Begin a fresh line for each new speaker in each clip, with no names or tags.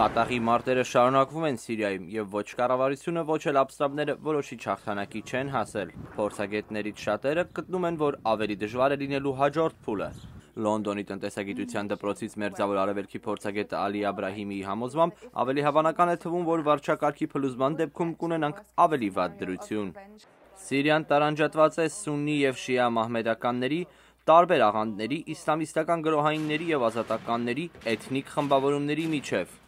Կատաղի մարտերը շարունակվում են Սիրիայում և ոչ կառավարությունը, ոչ էլ ապստամբները որոշիչ հաղթանակի չեն հասել։ Փորձագետներից շատերը գտնում են, որ ավելի դժվար է լինելու հաջորդ փուլը։ Լոնդոնի տնտեսագիտության դպրոցից Մերձավոր Արևելքի փորձագետ Ալի Աբրահիմիի համոզմամբ ավելի հավանական է թվում, որ վարչակարգի փլուզման դեպքում կունենանք ավելի վատ դրություն։ Սիրիան տարանջատված է սուննի և շիա մահմեդականների, տարբեր աղանդների, իսլամիստական գրոհայինների և ազատականների, էթնիկ խմբավորումների միջև։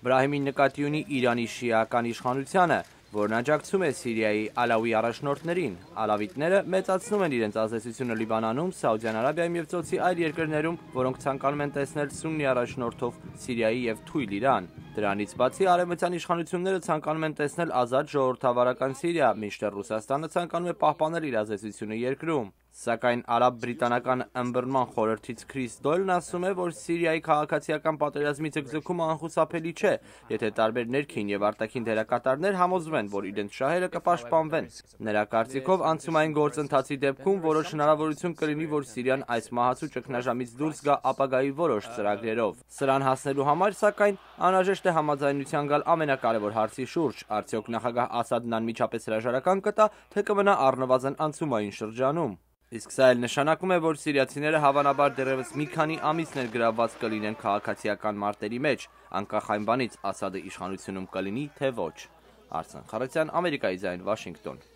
Բրահիմին նկատի ունի Իրանի շիական իշխանությանը, որն աջակցում է Սիրիայի ալավի առաջնորդներին։ Ալավիտները մեծացնում են իրենց ազդեցությունը Լիբանանում, Սաուդյան Արաբիայում և ծոցի այլ երկրներում, որոնք ցանկանում են տեսնել սուննի առաջնորդով Սիրիայի և թույլ Իրան։ Դրանից բացի արևմտյան իշխանությունները ցանկանում են տեսնել ազատ ժողովրդավարական Սիրիա, մինչդեռ Ռուսաստանը ցանկանում է պահպանել իր ազդեցությունը երկրում։ Սակայն արաբ-բրիտանական ըմբռնման խորհրդից Քրիս Դոյլն ասում է, որ Սիրիայի քաղաքացիական պատերազմի ձգձգումը անխուսափելի չէ, եթե տարբեր ներքին և արտաքին դերակատարներ համոզվեն, որ իրենց շահերը կպաշտպանվեն։ Նրա կարծիքով, անցումային գործընթացի դեպքում որոշ հնարավորություն կլինի, որ Սիրիան այս մահացու ճգնաժամից դուրս գա ապագայի որոշ ծրագրերով։ Սրան հասնելու համար, սակայն, անհրաժեշտ է համաձայնության գալ ամենակարևոր հարցի շուրջ՝ արդյոք նախագահ Ասադն անմիջապես հրաժարական կտա, թե կմնա առնվազն անցումային շրջանում։ Իսկ սա էլ նշանակում է, որ սիրիացիները հավանաբար դեռևս մի քանի ամիս ներգրավված կլինեն քաղաքացիական մարտերի մեջ, անկախ այն բանից՝ Ասադը իշխանությունում կլինի, թե ոչ։ Արսեն Խառատյան, Ամերիկայի ձայն, Վաշինգտոն։